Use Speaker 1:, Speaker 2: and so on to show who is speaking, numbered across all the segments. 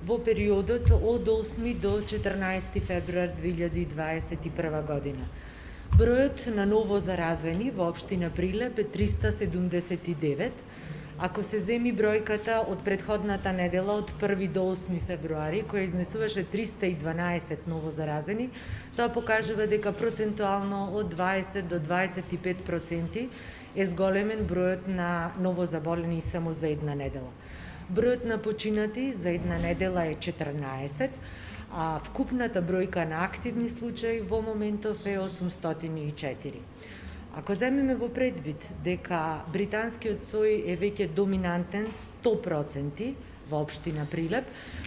Speaker 1: во периодот од 8 до 14 февруар 2021 година. Бројот на ново заразени во општина Прилеп е 379. Ако се земи бројката од претходната недела од 1 до 8 февруари, која изнесуваше 312 ново заразени, тоа покажува дека процентуално од 20 до 25% е зголемен бројот на ново заболени само за една недела. Бројот на починати за една недела е 14, а вкупната бројка на активни случаи во моментов е 804. Ако земеме во предвид дека британскиот сој е веќе доминантен 100% во општина Прилеп,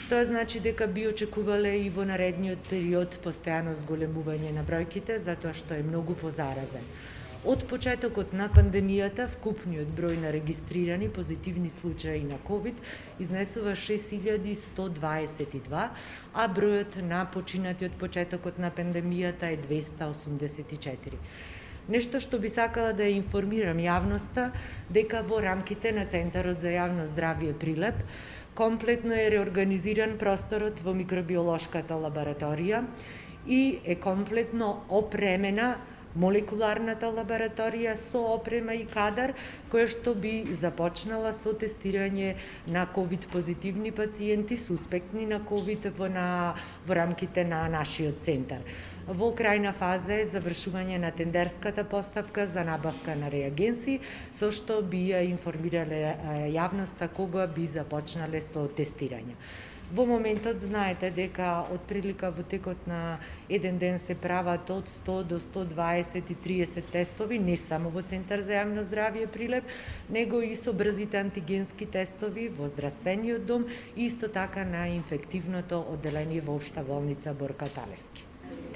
Speaker 1: тоа значи дека би очекувале и во наредниот период постојано зголемување на бројките, затоа што е многу позаразен. Од почетокот на пандемијата, вкупниот број на регистрирани позитивни случаи на COVID изнесува 6122, а бројот на починати од почетокот на пандемијата е 284. Нешто што би сакала да ја информирам јавноста, дека во рамките на Центарот за јавно здравје Прилеп комплетно е реорганизиран просторот во микробиолошката лабораторија и е комплетно опремена молекуларната лабораторија со опрема и кадар, која што би започнала со тестирање на COVID позитивни пациенти, суспектни на COVID во рамките на нашиот центар. Во крајна фаза е завршување на тендерската постапка за набавка на реагенси, со што би ја информирале јавноста кога би започнале со тестирање. Во моментот знаете дека отприлика во текот на еден ден се прават од 100 до 120 и 30 тестови, не само во Центар за јавно здравје Прилеп, него и со брзите антигенски тестови во здравствениот дом и исто така на инфективното одделение во Општа болница Борка Талески.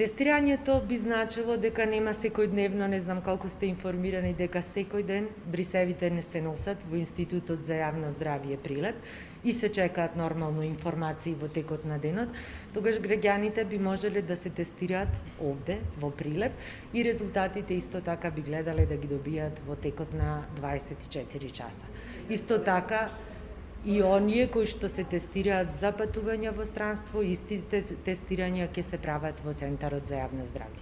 Speaker 1: Тестирањето би значило дека нема секојдневно, не знам колку сте информирани дека секој ден брисевите не се носат во Институтот за јавно здравје Прилеп и се чекаат нормално информации во текот на денот, тогаш граѓаните би можеле да се тестираат овде во Прилеп и резултатите исто така би гледале да ги добијат во текот на 24 часа. Исто така и оние кои што се тестираат за патување во странство, истите тестирања ќе се прават во Центарот за јавно здравје.